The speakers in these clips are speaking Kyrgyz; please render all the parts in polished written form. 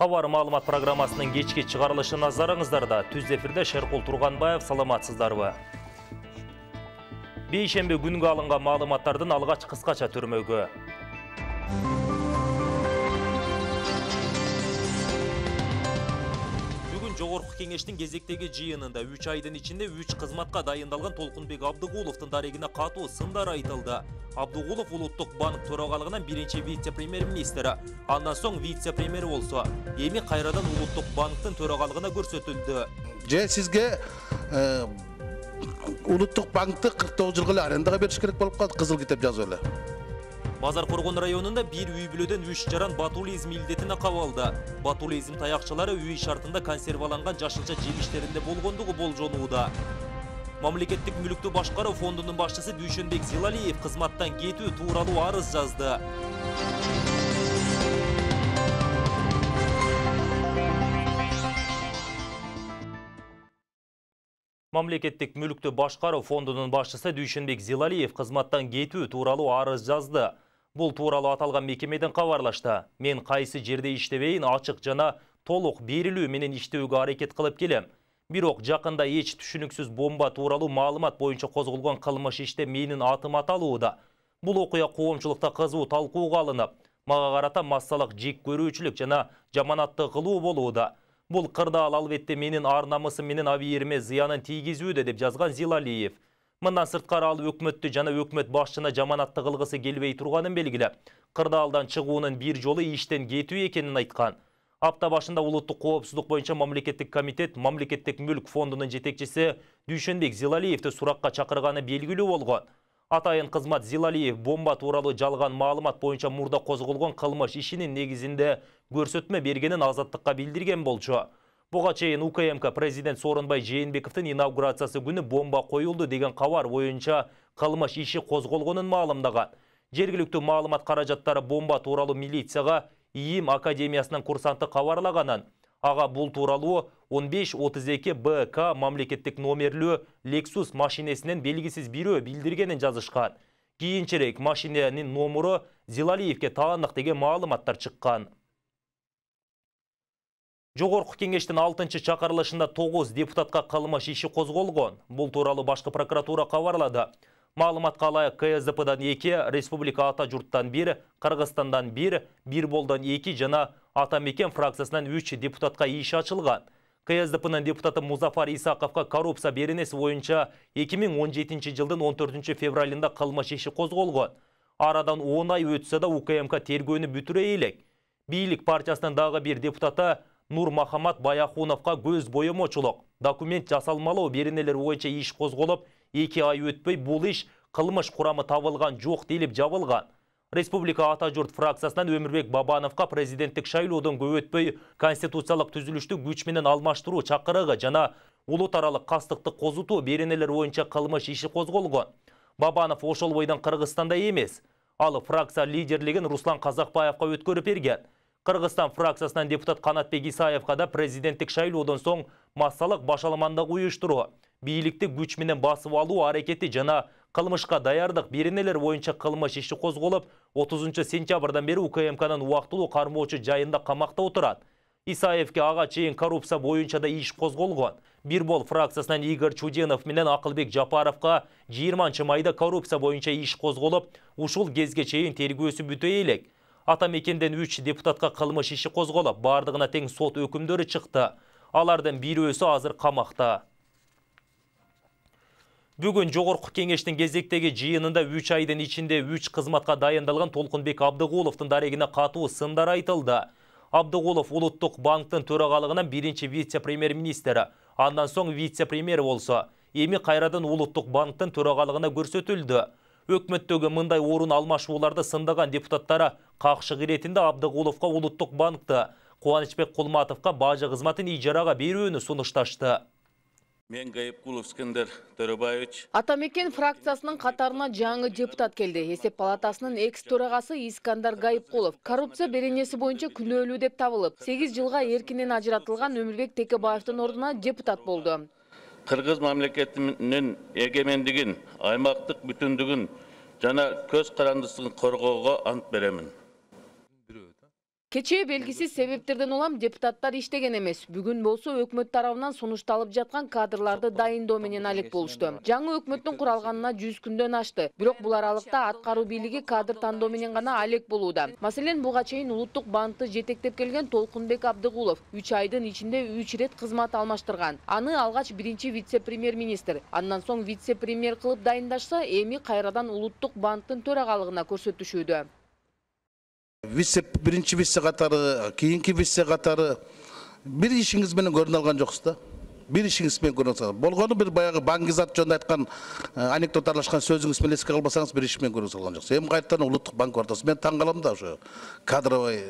Кабар маалымат программасынын кечки чыгарылышы назарыңыздарда. Түз эфирде Шеркул Турганбаев, саламатсыздарбы? Бейшемби күнгө алынган маалыматтардын алгач кыскача түрмөгү. Жогорку кеңештин кезектеги жыйынында 3 айдын ичинде 3 кызматка дайындалган Толкунбек Абдыгуловдун дарегине катуу сындар айтылды. Абдыгулов Улуттук банк төрагалыгынын биринчи вице-премьер-министри, андан соң вице-премьер болсо, эми кайрадан Улуттук банктын төрагалыгына көрсөтүлдү. Же сизге Улуттук банкты 49 жылга эле арендага бериш керек болуп калды, кызыл китеп жазып эле. Базар Коргон районунда бир үй бүлөдөн 3 жаран ботулизм илдетине кабылды. Ботулизм таякчылары үй шартында консерваланган жашылча жемиштеринде болгондугу болжонууда. Мамлекеттик мүлүктү башкаруу фондунун башчысы Дүйшөнбек Зилалиев кызматтан кетүү тууралуу арыз жазды. Мамлекеттик мүлүктү башкаруу фондунун башчысы Дүйшөнбек Зилалиев кызматтан кетүү тууралуу арыз жазды. Бул тууралуу аталган мекемеден кабарлашты. Мен кайсы жерде иштебейин, ачык жана толук берилүү менен иштөөгө аракет кылып келем. Бирок жакында эч түшүнүксүз бомба тууралуу маалымат боюнча козголгон кылмыш иште менин атым аталууда. Бул окуя коомчулукта кызуу талкууга алынып, мага карата массалык жек көрүүчүлүк жана жаманатты кылуу болууда. Бул кырдаал албетте менин ар-намысым менен абийириме зыянын тийгизүүдө деп жазган Зилалиев. Мындан сырткары ал өкмөттү жана өкмөт башчына жаманатты кылгысы келбей турганын белгилеп, кырдаалдан чыгуунун бир жолу иштен кетүү экенин айткан. Апта башында Улуттук коопсуздук боюнча мамлекеттик комитет Мамлекеттик мүлк фондунун жетекчиси Дүйшөнбек Зилалиевди суракка чакырганы белгилүү болгон. Атайын кызмат Зилалиев бомба тууралуу жалган маалымат боюнча мурда козголгон кылмыш ишинин негизинде көрсөтмө бергенин Азаттыкка билдирген болчу. Буга чейин УКМК президент Сооронбай Жээнбековдун инаугурациясы күнү бомба коюлду деген кабар боюнча кылмыш иши козголгонун маалымдаган. Жергиликтүү маалымат каражаттары бомба тууралуу милицияга ИИМ академиясынын курсанты кабарлаганын, ага бул тууралуу 1532 БК мамлекеттик номерлүү Lexus машинесинен белгисиз бирөө билдиргенин жазышкан. Кийинчерээк машиненин номуру Зилалиевге таандык деген маалыматтар чыккан. Жогорку кеңештин 6-чакырылышында 9 депутатка кылмыш иши козголгон. Бул тууралуу башкы прокуратура кабарлады. Маалыматка ылайык КСДПдан 2, Республика Ата журттан 1, Кыргызстандан 1, Бирболдон 2 жана Ата Мекен фракциясынан 3 депутатка иш ачылган. КСДПнын депутаты Музафар Исаковго коррупция беренеси боюнча 2017 жылдын 14 февралында кылмыш иши козголгон. Арадан 10 ай өтсө да УКМК тергөөнү бүтүрөй элек. Бийлик партиясынын дагы бир депутаты Нурмахамат Баяхуновго көз боемочулук, документ жасалмалоо беренелери боюнча иш козголуп, 2 ай өтпөй бул иш кылмыш курамы табылган жок делип жабылган. Республика Ата журт фракциясынан Өмүрбек Бабановго президенттик шайлоодон көп өтпөй конституциялык түзүлүштү күч менен алмаштыруу чакырыгы жана улут аралык кастыкты козутуу беренелери боюнча кылмыш иши козголгон. Бабанов ошол бойдон Кыргызстанда эмес. Ал фракция лидерлигин Руслан Казакбаевга өткөрүп берген. Кыргызстан фракциясынан депутат Канатбек Исаевга да президенттик шайлоодон соң массалык башаламандык уюштуруу, бийликти күч менен басып алуу аракети жана кылмышка даярдык беренелер боюнча кылмыш иши козголуп, 30 сентябрдан бери УКМКнын убактылуу кармоочу жайында камакта отурат. Исаевге ага чейин коррупция боюнча да иш козголгон. Бирбол фракциясынан Игорь Чуденов менен Акылбек Жапаровго 20 майда коррупция боюнча иш козголуп, ушул кезге чейин тергөөсү бүтөй элек. Ата Мекенден 3 депутатка кылмыш иши козголуп, бардыгына тең сот өкүмдөрү чыкты. Алардын бирөөсү азыр камакта. Бүгүн Жогорку кеңештин кезектеги жыйынында 3 айдын ичинде 3 кызматка дайындалган Толкунбек Абдыгуловдун дарегине катуу сындар айтылды. Абдыгулов Улуттук банктын төрагалыгынан биринчи вице-премьер-министри, андан соң вице-премьер болсо, эми кайрадан Улуттук банктын төрагалыгына көрсөтүлдү. Өкмөттөгү мындай орун алмашууларды сындаган депутаттары какшык иретинде Абдыгуловго Улуттук банкты, Кубанычбек Кулматовго бажы кызматын ижарага берүүнү сунушташты. Мен Гайыпкулов Скендер Төрөбаевич. Ата Мекен фракциясынын катарына жаңы депутат келди. Эсеп палатасынын экс-төрагасы Искандар Гайыпкулов коррупция беренеси боюнча күнөөлүү деп табылып, 8 жылга эркинен ажыратылган Өмүрбек Текебаевдин ордуна депутат болду. Кыргыз мамлекетинин эгемендигин, аймактык бүтүндүгүн жана көз карандысын коргоого ант беремин. Кечээ белгисиз себептерден улам депутаттар иштеген эмес. Бүгүн болсо өкмөт тарабынан сунушталып жаткан кадрларды дайындоо менен алек болушту. Жаңы өкмөттүн куралганына 100 күндөн ашты. Бирок бул аралыкта аткаруу бийлиги кадр тандоо менен гана алек болууда. Маселен, буга чейин улуттук банкты жетектеп келген Толкунбек Абдыгулов 3 айдын ичинде 3 ирет кызмат алмаштырган. Аны алгач биринчи вице-премьер-министр, андан соң вице-премьер кылып дайындашса, эми кайрадан улуттук банктын төрагалыгына көрсөтүшүүдө. Биринчи вице катары, кийинки вице катары бир ишиңиз менен көрүнө алган жоксуз да. Бир ишиңиз менен көрүнө алсаңыз. Болгону бир баягы Баңгизат жөнүндө айткан анекдот аралашкан сөзүңүз менен эске албасаңыз бир иш менен көрүнө алган жоксуз. Эми кайрадан улуттук банк ортосу. Мен таң калам да ошо кадровый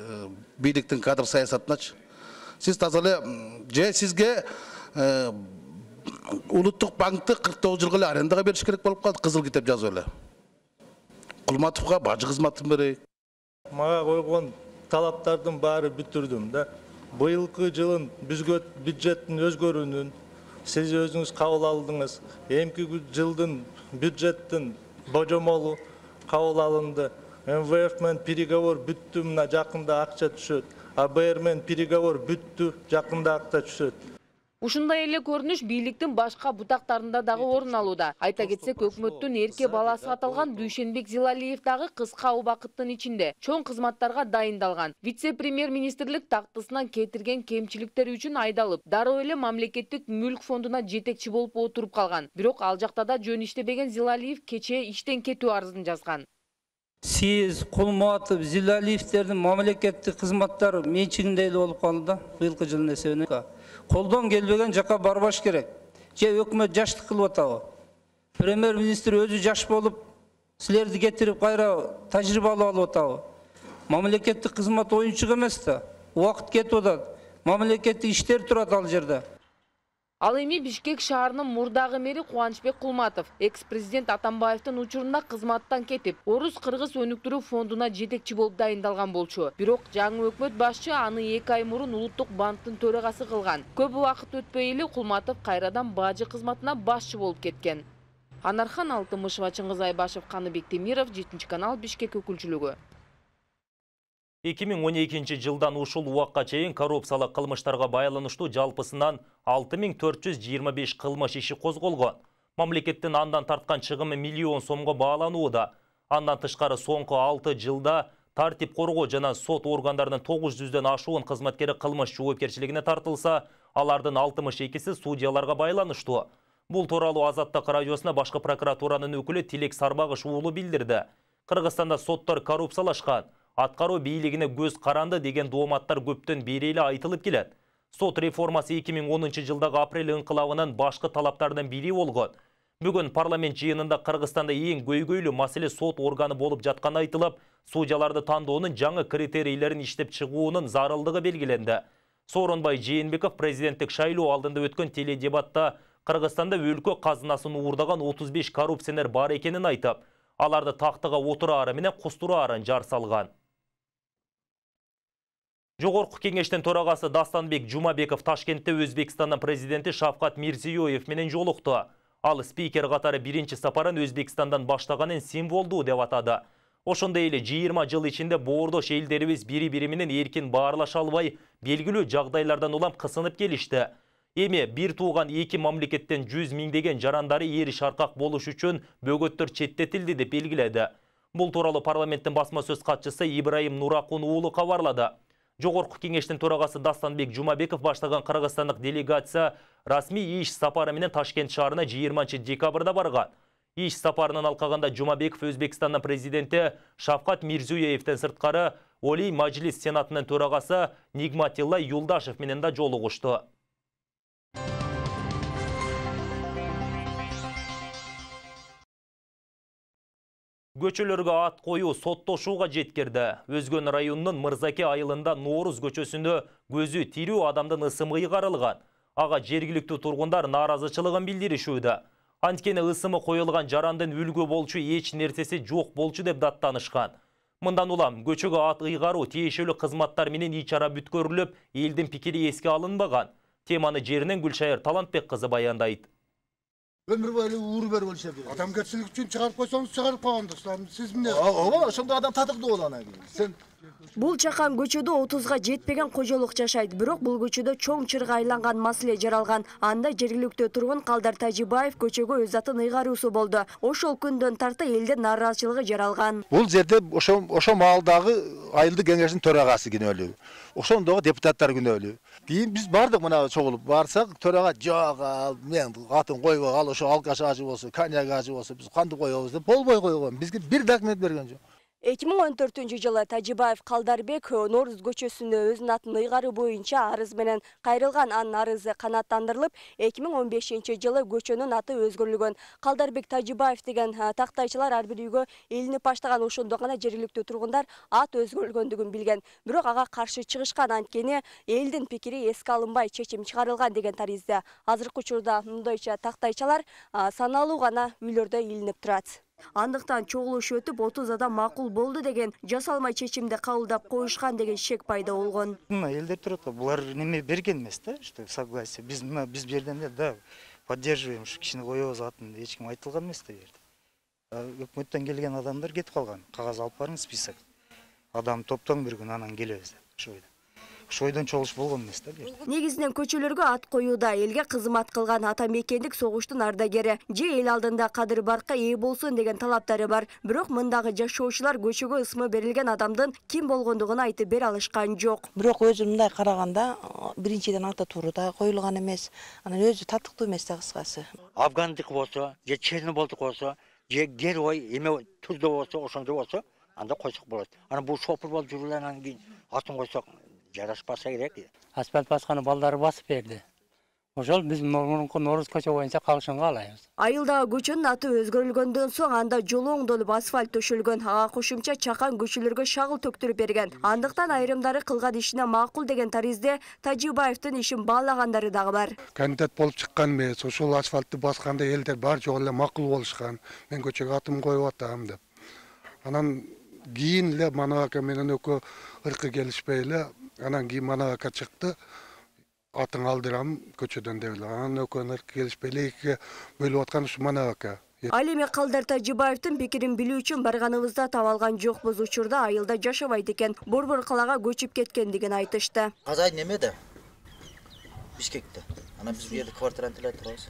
бийликтин кадр саясатыначы. Сиз таза эле же сизге улуттук банкты 49 жылга эле арендага бериш керек болуп калды, кызыл китеп жазып эле. Кулматовго бажы кызматын берейик. Мага койгон талаптардын баары бүтүрдүм да. Быйылкы жылын бюджеттин өзгөрүүнүн сиз өзүңүз кабыл алдыңыз. Эмки жылдын бюджеттин божомолу кабыл алынды. МВФ менен переговор бүттү, мына жакында акча түшөт. АБР менен переговор бүттү, жакында акча түшөт. Ушундай эле көрүнүш бийликтин башка бутактарында дагы орун алууда. Айта кетсек, өкмөттүн эрке баласы аталган Дүйшөнбек Зилалиев дагы кыска убакыттын ичинде чоң кызматтарга дайындалган. Вице-премьер-министрлик тактысынан кетирген кемчиликтери үчүн айдалып, дароо эле мамлекеттик мүлк фондуна жетекчи болуп отуруп калган. Бирок ал жакта да жөн иштебеген Зилалиев кечээ иштен кетүү арызын жазган. Сиз Кулматов, Зилалиевтердин мамлекеттик кызматтары менчигинде эле болуп калды да, быйылкы жылдын эсебинен. Колдон келбеген жака барбаш керек. Же өкмөт жаштык кылып атабы? Премьер-министр өзү жаш болуп, силерди кетирип кайра тажрыйба алып атабы? Мамлекеттик кызмат оюнчук эмес да. Убакыт кетип атат. Мамлекеттик иштер турат ал жерде. Ал эми Бишкек шаарынын мурдагы мэри Кубанычбек Кулматов экс-президент Атамбаевдин учурунда кызматтан кетип, Орус-Кыргыз өнүктүрүү фондуна жетекчи болуп дайындалган болчу. Бирок жаңы өкмөт башчы аны 2 ай мурун улуттук банктын төрагасы кылган. Көп убакыт өтпөй эле Кулматов кайрадан бажы кызматына башчы болуп кеткен. Анархан Алтымышева, Чыңгыз Айбашев, Каныбек Темиров, 7-канал, Бишкек өкүлчүлүгү. 2012 жылдан ушул убакка чейин коррупциялык кылмыштарга байланыштуу жалпысынан 6425 кылмыш иши козголгон. Мамлекеттин андан тарткан чыгымы миллион сомго бааланууда. Андан тышкары соңку 6 жылда тартип коргоо жана сот органдарынын 900дөн ашуун кызматкери кылмыш жоопкерчилигине тартылса, алардын 62си судьяларга байланыштуу. Бул тууралуу Азаттык радиосуна башкы прокуратуранын өкүлү Тилек Сарбагыш уулу билдирди. Кыргызстанда соттор коррупциялашкан, аткаруу бийлигине көз каранды деген дооматтар көптөн бери эле айтылып келет. Сот реформасы 2010 жылдагы апрель ыңкылабынын башкы талаптарынан бири болгон. Бүгүн парламент жыйынында Кыргызстанда эң көйгөйлүү маселе сот органы болуп жатканы айтылып, судьяларды тандоонун жаңы критерийлерин иштеп чыгуунун зарылдыгы белгиленди. Сооронбай Жээнбеков президенттик шайлоо алдында өткөн теледебатта Кыргызстанда өлкө казынасын уурдаган 35 коррупционер бар экенин айтып, аларды тактыга отураары менен кустураарын жар салган. Жогорку кеңештин төрагасы Дастанбек Жумабеков Ташкентте Өзбекстандын президенти Шавкат Мирзиёев менен жолукту. Ал спикер катары биринчи сапарын Өзбекстандан баштаганын символдуу деп атады. Ошондой эле 20 жыл ичинде боордош элдерибиз бири-бири менен эркин баарлаша албай, белгилүү жагдайлардан улам кысынып келишти. Эми бир тууган эки мамлекеттен 100 миңдеген жарандары ээри шаркак болуш үчүн бөгөттөр четтетилди деп белгиледи. Бул тууралуу парламенттин басма сөз катчысы Ибраим Нуракун уулу кабарлады. Жогорку кеңештин төрагасы Дастанбек Жумабеков баштаган кыргызстандык делегация расмий иш сапары менен Ташкент шаарына 20 декабрда барган. Иш сапарынын алкагында Жумабеков Өзбекстандын президенти Шавкат Мирзиёевден сырткары Олий Majlis Сенатынын төрагасы Нигматилла Юлдашев менен да жолугушту. Көчөлөргө ат коюу соттошууга жеткирди. Өзгөн районунун Мырзаке айылында Нооруз көчөсүндө көзү тирүү адамдын ысымы ыйгарылган. Ага жергиликтүү тургундар нааразычылыгын билдиришүүдө. Анткени ысымы коюлган жарандын үлгү болчу эч нерсеси жок болчу деп даттанышкан. Мындан улам көчөгө ат ыйгаруу тиешелүү кызматтар менен ичара бүткөрүлүп, элдин пикири эске алынбаган. Теманы жеринен Гүлшайыр Талантбек кызы баяндайт. Ömür boyu uğur ver olsa bir. Adam geçsinlik için çıkarıp koysanız çıkarıp koyandınız. Siz mi ne? Ооба, ошондой адам татыктуу болот ана. Sen Бул чакан көчөдө 30га жетпеген кожолук жашайт, бирок бул көчөдө чоң чырга айланган маселе жаралган. Анда жергиликтүү тургун Калдар Тажибаев көчөгө өз атын ыйгаруусу болду. Ошол күндөн тарта элдин нааразычылыгы жаралган. Бул жерде ошо маалдагы айылдык кеңештин төрагасы күнөөлүү. Ошондогу депутаттар күнөөлүү. Кийин биз бардык мына чогулуп барсак, төрага жок, мен атын койбой ал ошо алкаш ажы болсо, коньяк ажы болсо биз кантип коебуз деп болбой койгон. Бизге бир документ берген жок. 2014-жылы Тажибаев Калдарбек Нооруз көчөсүнө өзүнүн атын ыйгаруу боюнча арыз менен кайрылган. Анын арызы канааттандырылып, 2015-жылы көчөнүн аты өзгөрүлгөн. Калдарбек Тажибаев деген тактайчылар ар бир үйгө илинип баштаган. Ошондо гана жергиликтүү тургундар ат өзгөрүлгөндүгүн билген. Бирок ага каршы чыгышкан, анткени элдин пикири эске алынбай чечим чыгарылган деген таризде. Азыркы учурда мындайча тактайчалар саналуу гана үйлөрдө илинип турат. Андыктан чогулуш өтүп 30 адам макул болду деген жасалмай чечимди кабылдап коюшкан деген шек пайда болгон. Элдер турат, булар неме берген эмес да, что согласие. Биз жерден да поддерживаем, ушу кишини коебуз атын эч ким айтылган эмес да жерде. Өкмөттөн келген адамдар кетип калган. Кагаз алып барың список. Адам топтоң бир күн анан келебиз деп. Шойдон чогулуш болгон эмес да. Негизинен көчөлөргө ат коюуда элге кызмат кылган ата мекендик согуштун ардагери же эл алдында кадыр баркка ээ болсун деген талаптары бар. Бирок мындагы жашоочулар көчөгө ысмы берилген адамдын ким болгондугун айтып бере алышкан жок. Бирок өзү мындай караганда биринчиден ата туру да коюлган эмес. Анан өзү татыктуу эмес да кыскасы. Афгандык болсо, же Чернобылдык болсо, же герой эме турда болсо, ошондой болсо, анда койсок болот. Анан бул шопур болуп жүргөндөн кийин атын койсок жарашпаса керек. Асфальт басканы балдары басып берди. Ошол биз мурунку Нооруз көчө боюнча калышынга алайбыз. Айылдагы көчөнүн аты өзгөрүлгөндөн соң анда жолу оңдолуп асфальт төшөлгөн. Ага кошумча чакан көчөлөргө шагыл төктүрүп берген. Андыктан айрымдары кылган ишине макул деген таризде Тажибаевдин ишин баалагандары дагы бар. Кандидат болуп чыккан эмес, ошол асфальтты басканда элдер баары жок эле макул болушкан. Мен көчөгө атым коюп атам деп. Анан кийин эле Манабака менен экөө ыркы келишпей эле, анан кийин Манабака чыкты. Атын алдырам көчөдөн деп эле. Анан экөөнү ыркы келишпей эле экиге бөлүп аткан ушу Манабака. Ал эми Калдар Тажибаевдин пикирин билүү үчүн барганыбызда таба алган жокпуз. Учурда айылда жашабайт экен, Борбор калаага көчүп кеткендигин айтышты. Казай немеде? Бишкекте. Анан биз бу жерде квартираны төлөп турабыз.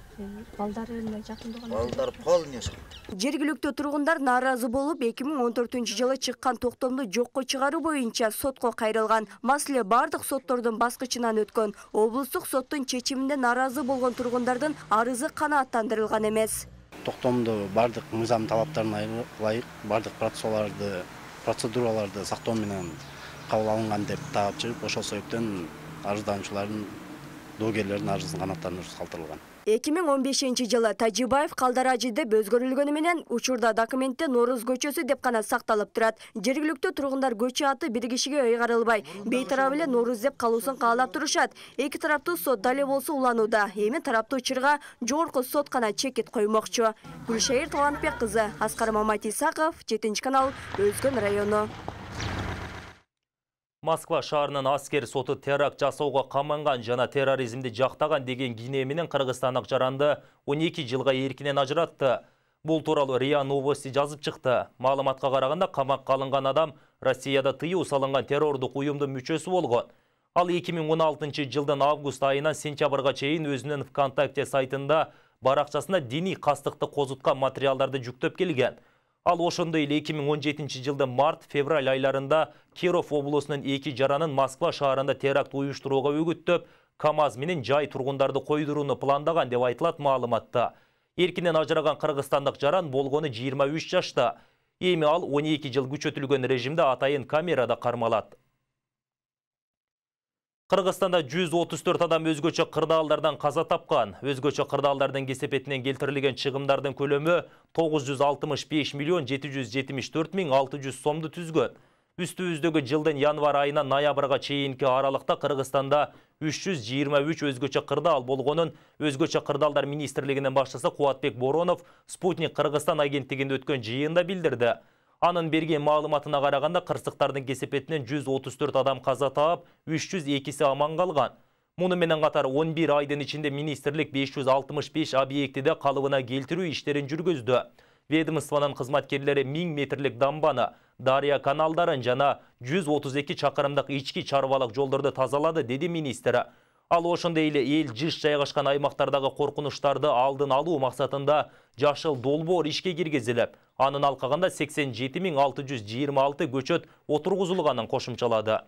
Балдары эле жакындаган. Балдар полный жашайт. Жергиликтүү тургундар нааразы болуп, 2014-жылы чыккан токтомду жокко чыгаруу боюнча сотко кайрылган. Маселе бардык соттордун баскычынан өткөн. Облустук соттун чечимине нааразы болгон тургундардын арызы канааттандырылган эмес. Токтомду бардык мыйзам талаптарына ылайык бардык процедураларды сактоо менен кабыл алынган деп таап чыгып, ошол себептен арыздануучулардын доогерлердин арызын канааттандыруу калтырылган. 2015-жылы Тажибаев Калдар ажы деп өзгөрүлгөнү менен учурда документте Нооруз көчөсү деп гана сакталып турат. Жергиликтүү тургундар көчө аты бир кишиге ыйгарылбай, бейтарап эле Нооруз деп калуусын каалап турушат. Эки тараптуу сот дале болсо уланууда. Эми тараптуу чырга жогорку сот гана чекит коймокчу. Гүлшайыр Талантбек кызы, Аскар Маматисаков, 7-канал, Өзгөн району. Москва шаарынын аскер соты теракт жасауга каманган жана терроризмди жактаган деген кине менен кыргызстандык жаранды 12 жылга эркинен ажыратты. Бул тууралуу РИА Новости жазып чыкты. Маалыматка караганда камакка алынган адам Россияда тыюу салынган террордук уюмдун мүчөсү болгон. Ал 2016 жылдын август айынан сентябрга чейин өзүнүн ВКонтакте сайтында баракчасына диний кастыкты козуткан материалдарды жүктөп келген. Ал ошондой эле 2017 жылдын март-февраль айларында Киров облусунун 2 жаранын Москва шаарында теракт уюштурууга үгүттөп, КАМАЗ менен жай тургундарды койдурууну пландаган деп айтылат маалыматта. Эркинен ажыраган кыргызстандык жаран болгону 23 жашта. Эми ал 12 жыл күчөтүлгөн режимде атайын камерада кармалат. Кыргызстанда 134 адам өзгөчө кырдаалдардан каза тапкан. Өзгөчө кырдаалдардын кесепетинен келтирилген чыгымдардын көлөмү 965 миллион 774 миң 600 сомду түзгөн. Үстүбүздөгү жылдын январ айынан ноябрга чейинки аралыкта Кыргызстанда 323 өзгөчө кырдаал болгонун Өзгөчө кырдаалдар министрлигинин башчысы Кубатбек Боронов Спутник Кыргызстан агенттигинде өткөн жыйында билдирди. Анын берген маалыматына караганда кырсыктардын кесепетинен 134 адам каза таап, 302си аман калган. Муну менен катар 11 айдын ичинде министрлик 565 объектиде калыбына келтирүү иштерин жүргүздү. Ведомствонун кызматкерлери 1000 метрлик дамбаны, дарыя каналдарын жана 132 чакырымдык ички чарбалык жолдорду тазалады, деди министр. Ал ошондой эле эл жыш жайгашкан аймактардагы коркунучтарды алдын алуу максатында жашыл долбоор ишке киргизилип, анын алкагында 87.626 көчөт отургузулганын кошумчалады.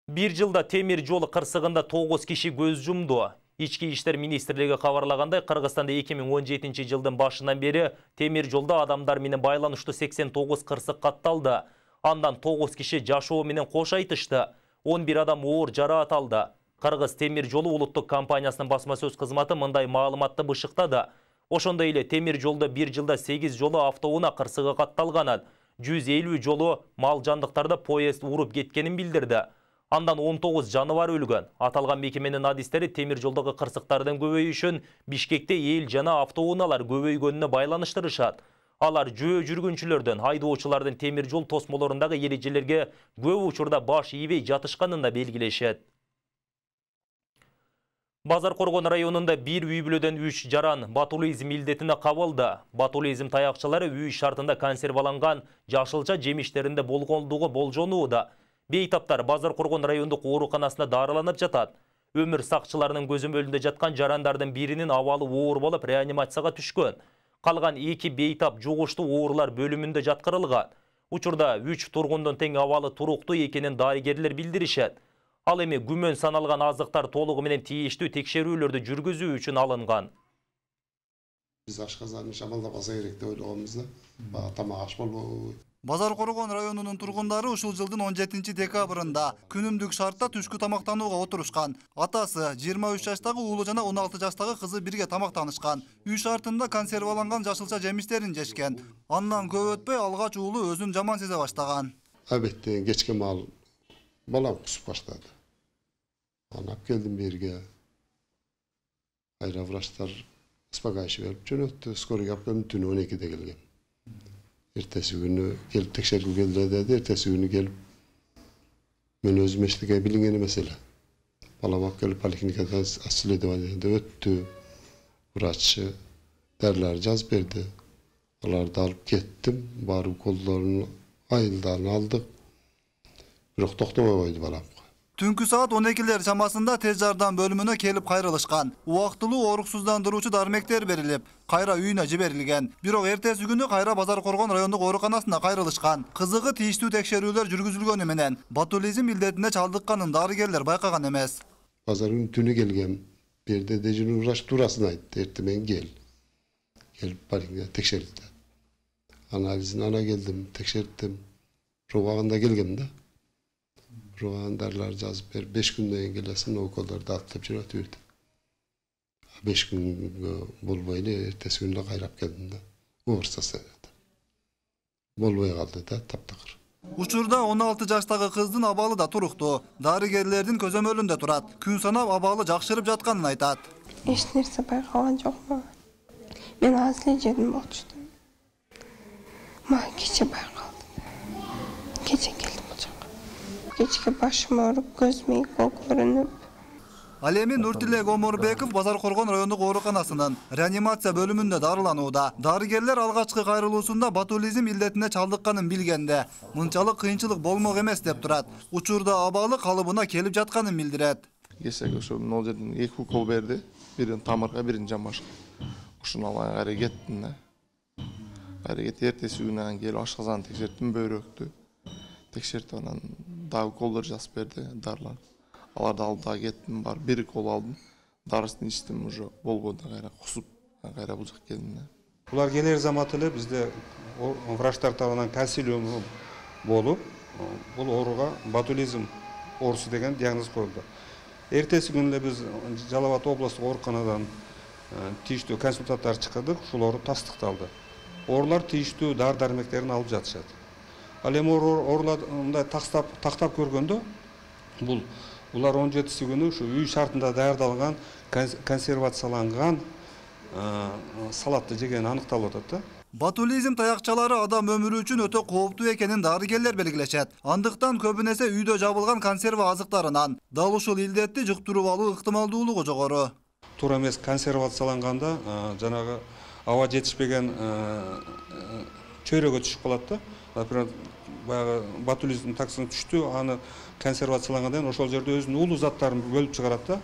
Бир жылда темир жол кырсыгында 9 киши көз жумду. Ички иштер министрлиги кабарлагандай, Кыргызстанда 2017 жылдын башынан бери темир жолда адамдар менен байланыштуу 89 кырсык катталды. Андан 9 киши жашоо менен кош айтышты. 11 адам оор жараат алды. Кыргыз темир жолу улуттук компаниясынын басма сөз кызматы мындай маалыматты бышыктады. Ошондой эле темир жолдо бир жылда 8 жолу автоунаа кырсыгы катталганын, 150 жолу мал жандыктарды поезд уруп кеткенин билдирди. Андан 19 жаныбар өлгөн. Аталган мекеменин адистери темир жолдогу кырсыктардын көбөйүшүн Бишкекте эл жана автоунаалар көбөйгөнүнө байланыштырышат. Алар жөө жүргүнчүлөрдөн, айдоочулардын темир жол тосмолорундагы эрежелерге көп учурда баш ийбей жатышканын да белгилешет. Базар Коргон районунда бир үй бүлөдөн 3 жаран ботулизм илдетине кабылды. Ботулизм таякчылары үй шартында консерваланган жашылча жемиштеринде болгондугу болжонууда. Бейтаптар Базар Коргон райондук ооруканасында дарыланып жатат. Өмүр сакчыларынын көзөмөлүндө жаткан жарандардын биринин абалы оор болуп реанимацияга түшкөн. Калган 2 бейтап жугуштуу оорулар бөлүмүндө жаткырылган. Учурда 3 тургундун тең абалы туруктуу экенин дарыгерлер билдиришет. Ал эми күмөн саналган азыктар толугу менен тийиштүү текшерүүлөрдү жүргүзүү үчүн алынган. Биз ашказаны шамалдабаса керек деп ойлогонбуз да. Тамак аш болбойбу. Базар Коргон районунун тургундары ушул жылдын 17 декабрында күнүмдүк шартта түшкү тамактанууга отурушкан. Атасы 23 жаштагы уулу жана 16 жаштагы кызы бирге тамактанышкан. Үй шартында консерваланган жашылча жемиштерин жешкен. Андан көп өтпөй алгач уулу өзүн жаман сезе баштаган. Албетте кечке маал балам кусуп баштады. Анап келдим берге. Айра врачтар успокаивающий берип жөнөттү. Скорыйга алып келдим, түнү 12-де келген. Эртеси күнү келип текшергүү келди деди. Эртеси күнү келип мен өзүм эчтеке билинген эмес эле. Балам алып келип поликлиникада осследованиеде өттү. Врач дарылар жазып берди. Аларды алып кеттим. Барып колдорун айылдан алдык. Бирок токтобой койду балам. Түнкү саат 12-лер чамасында тез жардам бөлүмүнө келип кайрылышкан. Убактылуу ооруксуздандыруучу дармектер берилип, кайра үйүнө жиберилген. Бирок эртеси күнү кайра Базар Коргон райондук ооруканасына кайрылышкан. Кызыгы тийиштүү текшерүүлөр жүргүзүлгөнү менен ботулизм илдетине чалдыкканын дарыгерлер байкаган эмес. Базар күнү түнү келгем. Берде дежурный врач туурасын айтты. Эртемен кел. Келип поликлиникага текшертти. Анализин ана келдим, текшерттим. Пробаганда келгем да. Дарылар жазып берип 5 күндөн кийин келесиң, уколдорду алып деп жүрөт берди. 5 күнгө болбой эле эртеси күнү кайрап келдим да. Оор состоянияда. Болбой калды да, таптакыр. Учурда 16 жаштагы кыздын абалы да туруктуу. Дарыгерлердин көзөмөлүндө турат. Күн санап абалы жакшырып жатканын айтат. Эч нерсе байкалган жокмун. Мен аз эле жедим болчу. Мага кече байкалды. Кече келдим бул жака. Кечке башым ооруп, көзүм көрүнүп. Ал эми Нуртилек Омурбеков Базар Коргон райондук ооруканасынын реанимация бөлүмүндө дарыланууда. Дарыгерлер алгачкы кайрылуусунда ботулизм илдетине чалдыкканын билгенде, мынчалык кыйынчылык болмок эмес деп турат. Учурда абалы калыбына келип жатканын билдирет. Кесек ошо могул жерден 2 укол берди. Бирин тамырга, бирин жамбашка. Ушуну алган кайра кеттим да. Кайра кетип эртеси күнү келип ашказаны текшерттим, бөйрөктү. Текшертип анан дагы уколдор жазып берди, дарылар. Аларды алып дагы кеттим, бар 1 укол алдым. Дарысын ичтим, уже болбоду, кайра кусуп, кайра бул жака келдим. Булар келер замат эле бизде врачтар тарабынан консилиум болуп, бул ооруга ботулизм оорусу деген диагноз коюлду. Эртеси күнү эле биз Жалал Абад облустук ооруканадан тийиштүү консультанттар чакырдык, ушул оору тастыкталды. Оорулар тийиштүү дары-дармектерин алып жатышат. Ал эми оорулар мындай тактап көргөндө булар 17-си күнү ушу үй шартында даярдалган, консервацияланган салатты жегени аныкталып атат да. Ботулизм таякчалары адам өмүрү үчүн өтө кооптуу экенин дарыгерлер белгилешет. Андыктан көбүнесе үйдө жабылган консерва азыктарынан дал ушул илдетти жуктуруп алуу ыктымалдуулугу жогору. Туура эмес консервацияланганда жанагы аба жетишпеген чөйрөгө түшүп калат да. Например, баягы ботулизм токсини түштү, аны консервациялангандан кийин ошол жерде өзүнүн уулуу заттарын бөлүп чыгарат да.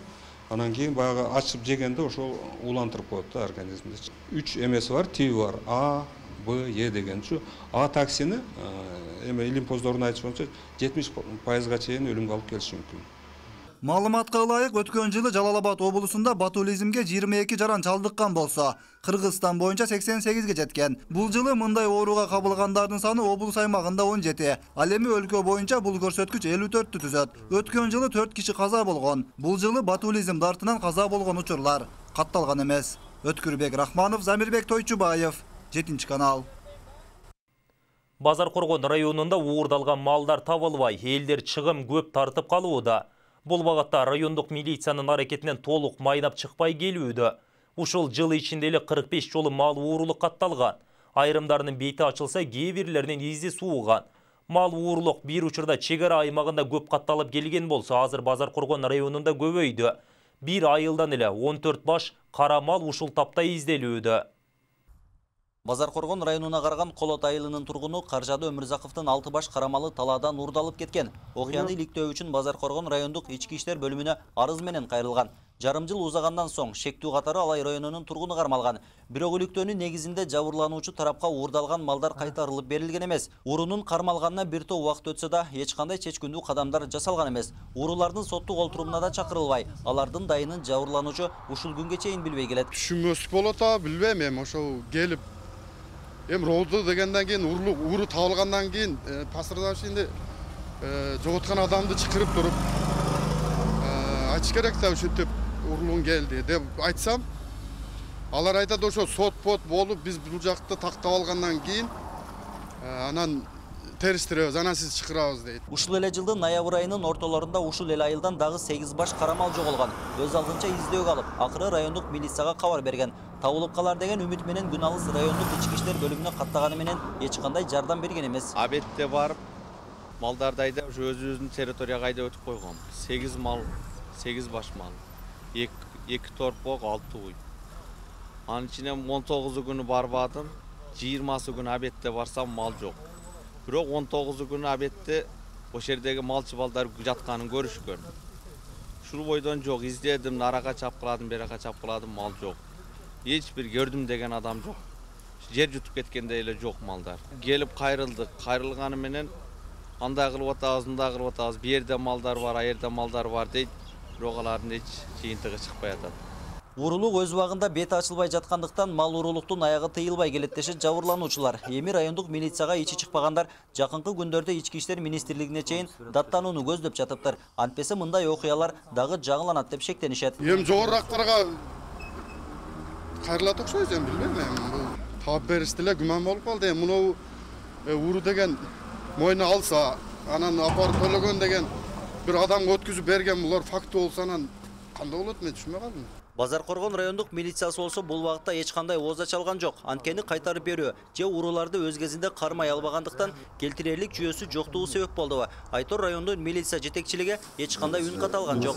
Анан кийин баягы ачып жегенде ошол уулантырып коет да организмде. 3 эмеси бар, тиби бар. А, Б, Е дегенчи. А токсини эме илимпоздордун айтышы боюнча 70%га чейин өлүмгө алып келиши мүмкүн. Маалыматка ылайык, өткөн жылы Жалал Абад облусунда ботулизмге 22 жаран чалдыккан болсо, Кыргызстан боюнча 88ге жеткен. Бул жылы мындай ооруга кабылгандардын саны облус аймагында 17. Ал эми өлкө боюнча бул көрсөткүч 54-тү түзөт. Өткөн жылы 4 киши каза болгон. Бул жылы ботулизм дартынан каза болгон учурлар катталган эмес. Өткүрбек Рахманов, Замирбек Тойчубаев, 7-канал. Базар Коргон районунда уурдалган малдар табылбай, элдер чыгым көп тартып калууда. Бул багатта райондук милициянын аракетинен толук майнап чыкпай келүүдө. Ушул жыл ичинде эле 45 жолу мал уурулук катталган. Айрымдарынын бети ачылса, кээ бирлеринин изи сууган. Мал уурулук бир учурда чек ара аймагында көп катталып келген болсо, азыр Базар Коргон районунда көбөйдү. Бир айылдан эле 14 баш кара мал ушул тапта изделүүдө. Базар Коргон районуна караган Колот айылынын тургуну Каржады Өмүрзаковдун 6 баш карамалы талаадан уурдалып кеткен. Окуяны иликтөө үчүн Базар Коргон райондук ички иштер бөлүмүнө арыз менен кайрылган. Жарым жыл узагандан соң шектүү катары Алай районунун тургуну кармалган. Бирок иликтөөнүн негизинде жабырлануучу тарапка уурдалган малдар кайтарылып берилген эмес. Уурунун кармалганына бир топ убакыт өтсө да, эч кандай чечкиндүү кадамдар жасалган эмес. Уурулардын соттук олтурумуна да чакырылбай, алардын дайынын жабырлануучу ушул күнгө чейин билбей келет. Түшүнмөстүк болот, билбейм, эми ошол келип розы дегенден кийин ууру табылгандан кийин пострадавшийни жоготкон адамды чакырып туруп айтыш керек да, ушинтип уурулуң келди деп айтсам, алар айтат ошо сот болуп биз бул жакты тактап алгандан кийин анан териштиребиз, анан сиз чакырабыз дейт. Ушул эле жылдын ноябрь айынын ортолорунда ушул эле айылдан дагы 8 баш карамал жоголгон. Өз алдынча издөөгө алып, акыры райондук милицияга кабар берген. Табылып калар деген үмүт менен күн алыс райондук ички иштер бөлүмүнө каттаганы менен эч кандай жардам берген эмес. Абетте барып, малдарды айдап, өзүбүздүн территорияга айдап өтүп койгон. 8 мал, 8 баш мал. 2 торпок, 6 уй. Анын ичинен 19 күнү барбадым, 20 күнү абетте барсам мал жок. Бирок 19 күнү абетте ошол жердеги малчы балдар жатканын көрүшкөн. Ушул бойдон жок, издедим, нарага чапкыладым, берака чапкыладым, мал жок. Эч бир көрдүм деген адам жок. Жер жутуп кеткендей эле жок малдар. Келип кайрылдык, кайрылганы менен андай кылып атабыз, мындай кылып атабыз, бу жерде малдар бар, а жерде малдар бар дейт. Бирок алардын эч жыйынтыгы чыкпай атат. Уурулук өз убагында бети ачылбай жаткандыктан мал уурулуктун аягы тыйылбай келет дешет жабырлануучулар. Эми райондук милицияга ичи чыкпагандар жакынкы күндөрдө ички иштер министрлигине чейин даттанууну көздөп жатыптыр. Антпесе мындай окуялар дагы жаңыланат деп шектенишет. Эми жогорурактарга кайрылат окшойт, эми билбейм, эми таап беришти эле күмөн болуп калды. Эми муну ууру деген мойнуна алса, анан апарып төлөгөн деген бир адамга өткүзүп берген булар факты болсо, анан кандай болот, мен түшүнбөй калдым. Базар Коргон райондук милициясы болсо бул багытта эч кандай ооз чалган жок. Анткени кайтарып берүү же ууруларды өз кезинде кармай албагандыктан келтирерлик жүйөсү жоктугу себеп болду. Айтор райондун милиция жетекчилиги эч кандай үн ката алган жок.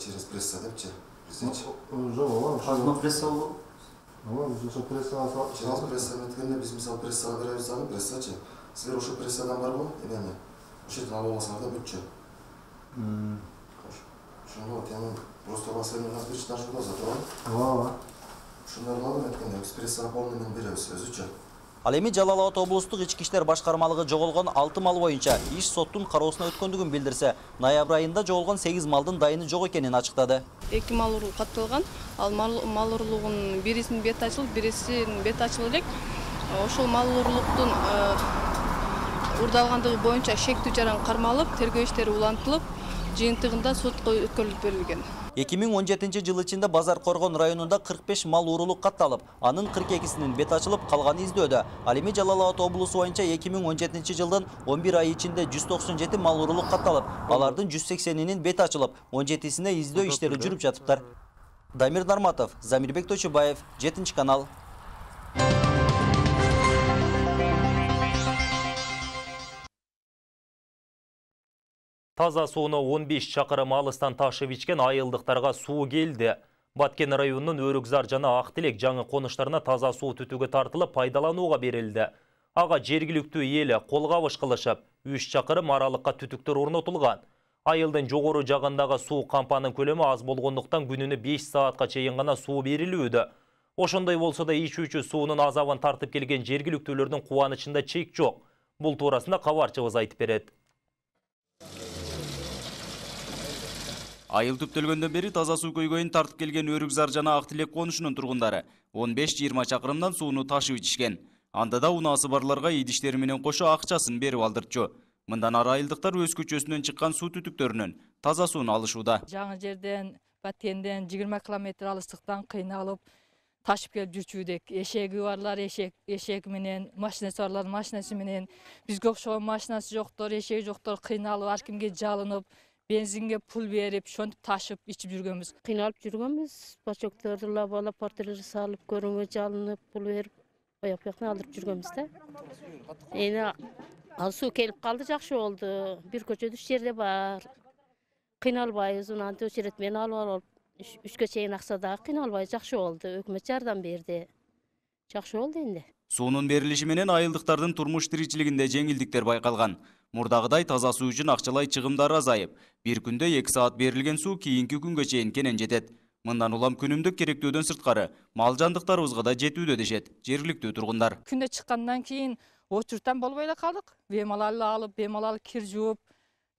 Через пресса депчи? Жок, пресса болду. Через пресса меткенде биз мисалы прессага беребиз, аны прессачы. Силер ошо прессадан барбы? Эмне? Ошол жерден алып алсаңар да бүтчү. Ошондо эми просто басылып нас бир чыгашып алса, туура? Ушундайларды алып эткенде экспрессага полный менен беребиз өзүчү. Ал эми Жалал Абад облустук ички иштер башкармалыгы жоголгон 6 мал боюнча иш соттун кароосуна өткөндүгүн билдирсе, ноябрь айында жоголгон 8 малдын дайыны жок экенин ачыктады. 2 мал уруу катталган. Ал мал уруулугунун бирисинин бети ачылып, бирисинин бети ачылып элек. Ошол мал уруулуктун уурдалгандыгы боюнча шектүү жаран кармалып, тергөө иштери улантылып, жыйынтыгында сотко өткөрүлүп берилген. 2017 жыл ичинде Базар Коргон районунда 45 мал уурулук катталып, анын 42синин бети ачылып, калганы издөөдө. Ал эми Жалал Абад облусу боюнча 2017 жылдын 11 ай ичинде 197 мал уурулук катталып, алардын 180нин бети ачылып, 17сине издөө иштери жүрүп жатыптыр. Дамир Нарматов, Замирбек Тойчубаев, 7-канал. Таза сууну 15 чакырым алыстан ташып ичкен айылдыктарга суу келди. Баткен районунун Өрүкзар жана Актилек жаңы конуштарына таза суу түтүгө тартылып пайдаланууга берилди. Ага жергиликтүү эли кол кабыш кылышып, 3 чакырым аралыкка түтүктөр орнотулган. Айылдын жогору жагындагы суу кампанын көлөмү аз болгондуктан күнүнө 5 саатка чейин гана суу берилүүдө. Ошондой болсо да ичүүчү суунун азабын тартып келген жергиликтүүлөрдүн кубанычында чек жок. Бул туурасында кабарчыбыз айтып берет. Айыл түптөлгөндөн бери таза суу көйгөйүн тартып келген Өрүкзар жана Актилек конушунун тургундары 15-20 чакырымдан сууну ташып ичишкен. Анда да унаасы барларга идиштери менен кошо акчасын берип алдырчу. Мындан ары айылдыктар өз көчөсүнөн чыккан суу түтүктөрүнөн таза сууну алышууда. Жаңы жерден, Баткенден 20 километр алыстыктан кыйналып ташып келип жүрчүдүк. Эшеги барлар эшек менен, машинасы барлар машинасы менен, бизге окшогон машинасы жоктор, эшеги жоктор кыйналып, ар кимге жалынып, бензинге пул берип, ошентип ташып ичип жүргөнбүз. Кыйналып жүргөнбүз. Бачокторду лабалап, портерлер салып, көрүнгө жалынып, пул берип, аяк бияктан алдырып жүргөнбүз да. Эне ал суу келип калды, жакшы болду. Бир көчөдө 3 жерде бар. Кыйналбайбыз, унанты очерет менен алып 3кө чейин аксада кыйналбай жакшы болду. Өкмөт жардам берди. Жакшы болду энди. Суунун берилиши менен айылдыктардын турмуш тиричилигинде жеңилдиктер байкалган. Мурдагыдай таза суу үчүн акчалай чыгымдар азайып, бир күндө 2 саат берилген суу кийинки күнгө чейин кенен жетет. Мындан улам күнүмдүк керектөөдөн сырткары мал жандыктарыбызга да жетүүдө дешет жергиликтүү тургундар. Күндө чыккандан кийин очурттан болбой эле калдык. Бемалал алып, бемалал кир жууп,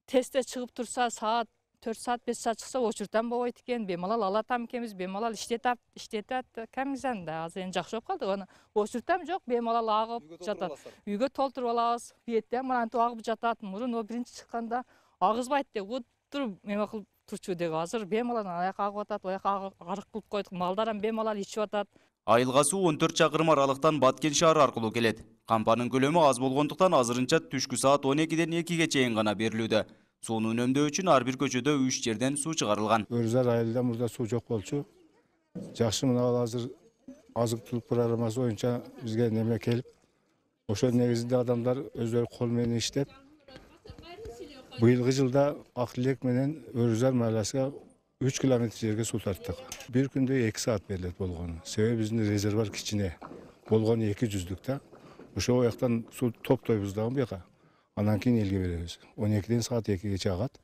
тестте чыгып турса, саат 4 саат 5 саат чыкса очурттан болбойт экен. Бемалал алатам экенбиз, бемалал иштетет. Кемизанда азыр эми жакшы болуп калды. Аны очурттан жок, бемалал агып жатат. Үйгө толтуруп алабыз. Бүйеттен мынантип агып жатат. Мурун о биринчи чыкканда агызбайт деп отуруп эме кылып турчу деп. Азыр бемалал аяк агып атат, аяк арык кылып койдук. Малдарам бемалал ичип атат. Айылга суу 14 чакырым аралыктан Баткен шаары аркылуу келет. Кампанын көлөмү аз болгондуктан азырынча түшкү саат 12ден 2ге чейин гана берилүүдө. Сууну үнөмдөө үчүн ар бир көчөдө 3 жерден суу чыгарылган. Өрүкзар айылда мурда суу жок болчу. Жакшы мына азыр азык-түлүк программасы боюнча бизге неме келип, ошо негизинде адамдар өздөрү кол менен иштеп, быйылгы жылда Актилек менен Өрүкзар майласына 3 километр жерге суу тарттык. Бир күндө 2 саат берилет болгону. Себеби биздин резервуар кичине. Болгону 200 да. Ошол жактан суу топтойбуз дагы буяка. Андан кийин элге беребиз. 12ден саат 2гече агат.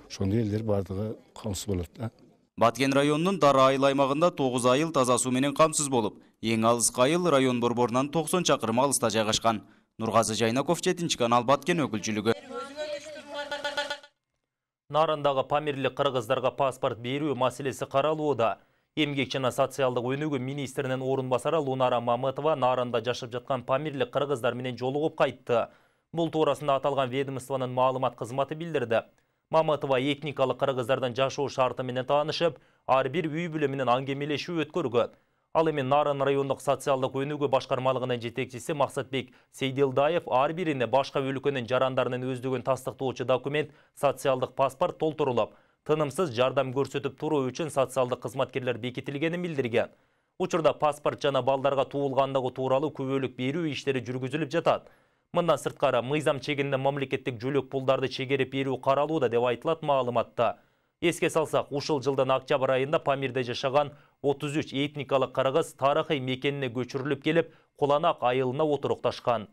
Ошондой элдер бардыгы камсыз болот да. Баткен районунун Дара айыл аймагында 9 айыл таза суу менен камсыз болуп, эң алыскы айыл район борборунан 90 чакырым алыста жайгашкан. Нургазы Жайнаков, 7 канал, Баткен өкүлчүлүгү. Нарындагы памирлик кыргыздарга паспорт берүү маселеси каралууда. Эмгек жана социалдык өнүгүү министринин орун басары Лунара Мамытова Нарында жашап жаткан памирлик кыргыздар менен жолугуп кайтты. Бул туурасында аталган ведомствонун маалымат кызматы билдирди. Мамытова этникалык кыргыздардан жашоо шарты менен таанышып, ар бир үй бүлө менен аңгемелешүү өткөргөн. Ал эми Нарын райондук социалдык өнүгүү башкармалыгынын жетекчиси Максатбек Сейдилдаев ар бирине башка өлкөнүн жарандарынын өздүгүн тастыктоочу документ, социалдык паспорт толтурулуп, тынымсыз жардам көрсөтүп туруу үчүн социалдык кызматкерлер бекитилгенин билдирген. Учурда паспорт жана балдарга туулгандыгы тууралуу күбөлүк берүү иштери жүргүзүлүп жатат. Мындан сырткары мыйзам чегинде мамлекеттик жүлөк пулдарды чегерип берүү каралууда деп айтылат маалыматта. Эске салсак, ушул жылдын октябрь айында Памирде жашаган 33 этникалык кыргыз тарыхый мекенине көчүрүлүп келип, Куланак айылына отурукташкан.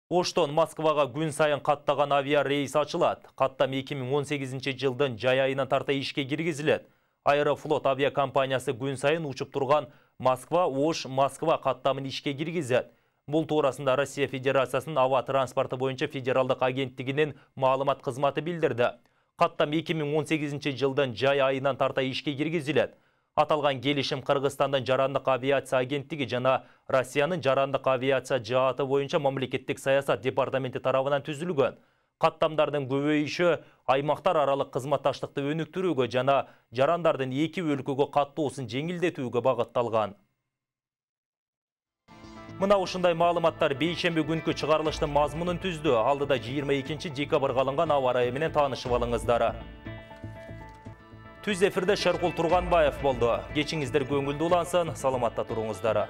Оштон Москвага күн сайын каттаган авиа рейс ачылат. Каттам 2018 жылдын жай айынан тарта ишке киргизилет. Аэрофлот авиакомпаниясы күн сайын учуп турган Москва-Ош Москва каттамын ишке киргизет. Бул туурасында Россия Федерациясынын аба транспорты боюнча федералдык агенттигинин маалымат кызматы билдирди. Каттам 2018 жылдын жай айынан тарта ишке киргизилет. Аталган келишим Кыргызстандын жарандык авиация агенттиги жана Россиянын жарандык авиация жааты боюнча мамлекеттик саясат департаменти тарабынан түзүлгөн. Каттамдардын көбөйүшү аймактар аралык кызматташтыкты өнүктүрүүгө жана жарандардын эки өлкөгө каттоосун жеңилдетүүгө багытталган. Мына ушундай маалыматтар бейшемби күнкү чыгарылыштын мазмунун түздү. Алдыда 22 декабрга алынган аба ырайы менен таанышып алыңыздар. Түз эфирде Шеркул Турганбаев болду. Кечиңиздер көңүлдүү улансын, саламатта туруңуздар.